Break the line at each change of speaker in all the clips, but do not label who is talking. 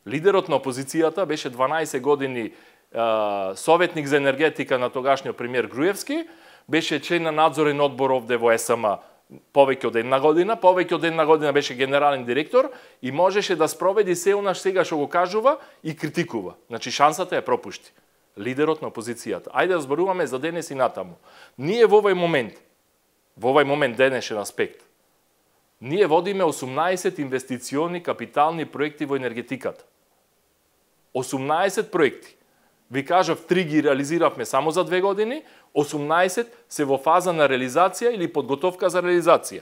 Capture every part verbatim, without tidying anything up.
Лидерот на опозицијата беше дванаесет години советник за енергетика на тогашниот премиер Груевски, беше член на надзорен одбор овде во ЕСМ повеќе од една година, повеќе од една година беше генерален директор и можеше да спроведи се онаш сега што го кажува и критикува. Значи шансата ја пропушти. Лидерот на опозицијата. Ајде да зборуваме за денес и натаму. Ние во овој момент, во овој момент денешен аспект, ние водиме осумнаесет инвестициони капитални проекти во енергетиката. осумнаесет проекти. Ви кажав, три ги реализиравме само за две години, осумнаесет се во фаза на реализација или подготовка за реализација.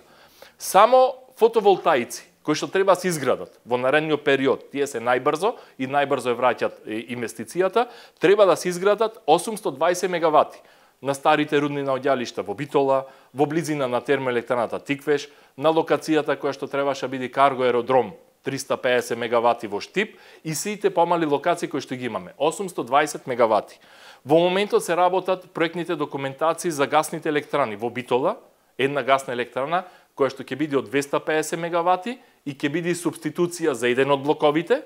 Само фотоволтаици, кои што треба да се изградат во наредниот период, тие се најбрзо и најбрзо ја враќат инвестицијата, треба да се изградат осумсто дваесет мегавати на старите рудни наоѓалишта во Битола, во близина на термоелектраната Тиквеш, на локацијата која што требаше да биде карго аеродром триста пеесет мегавати во Штип и сите помали локации кои што ги имаме, осумсто дваесет мегавати. Во моментот се работат проектните документации за гасните електрани во Битола, една гасна електрана која што ќе биде од двеста пеесет мегавати и ќе биде субституција за еден од блоковите,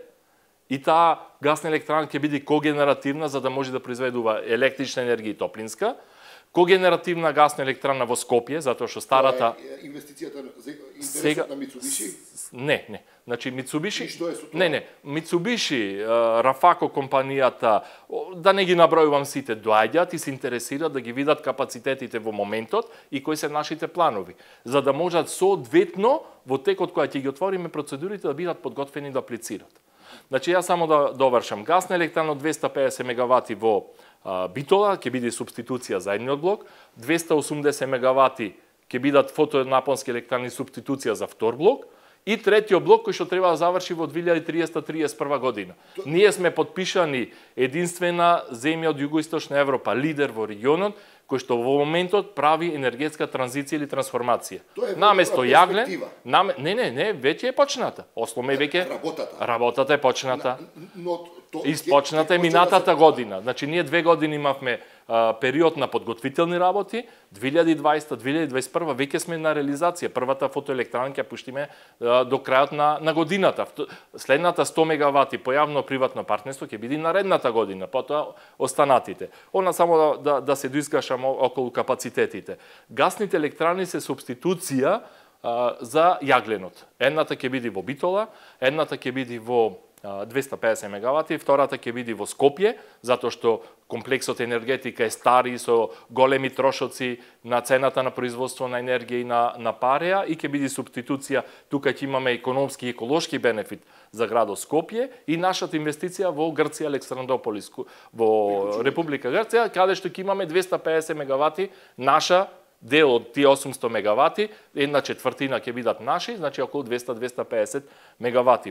и таа гасна електрана ќе биде когенеративна за да може да произведува електрична енергија и топлинска. Когенеративна гасна електрана во Скопје, затоа што старата
инвестицијата за интересот
сега...
на Мицубиши?
Не, не. Значи Мицубиши,
е
не, не, Мицубиши, Рафако компанијата, да не ги набројувам сите, доаѓаат и се интересираат да ги видат капацитетите во моментот и кои се нашите планови, за да можат соодветно во текот кога ќе ги отвориме процедурите да бидат подготвени да аплицираат. Значи јас само да довршам, гасна електрана од двеста пеесет мегавати во а, Битола ќе биде субституција за едниот блок, двеста осумдесет мегавати ќе бидат фотонапонски електрани субституција за втор блок, и третиот блок кој што треба да заврши во две илјади триесета триесет и прва година. Ние сме подпишани единствена земја од југоисточна Европа, лидер во регионот, кој што во моментот прави енергетска транзиција или трансформација. Наместо јаглен, наме... не, не, не, веќе е почната. Осломе веќе
работата.
Работата е почната.
Но то
Испочната е минатата година. Значи ние две години имавме а, период на подготвителни работи, две илјади и дваесета две илјади и дваесет и прва веќе сме на реализација. Првата фотоелектрана ќе пуштиме а, до крајот на, на годината. Следната сто мегавати по јавно-приватно партнерство ќе биде наредната година, потоа останатите. Она само да, да, да се доискашам околу капацитетите. Гасните електрани се субституција а, за јагленот. Едната ќе биде во Битола, едната ќе биде во двеста пеесет мегавати, втората ќе биде во Скопје, затоа што комплексот енергетика е стари со големи трошоци на цената на производство на енергија и на, на пареа и ќе биде субституција, тука ќе имаме економски и еколошки бенефит за градот Скопје и нашата инвестиција во Грција, Александрополис, во Република Грција, каде што ќе имаме двеста пеесет мегавати наша дел од тие осумсто мегавати, една четвртина ќе бидат наши, значи околу двеста до двеста пеесет мегавати.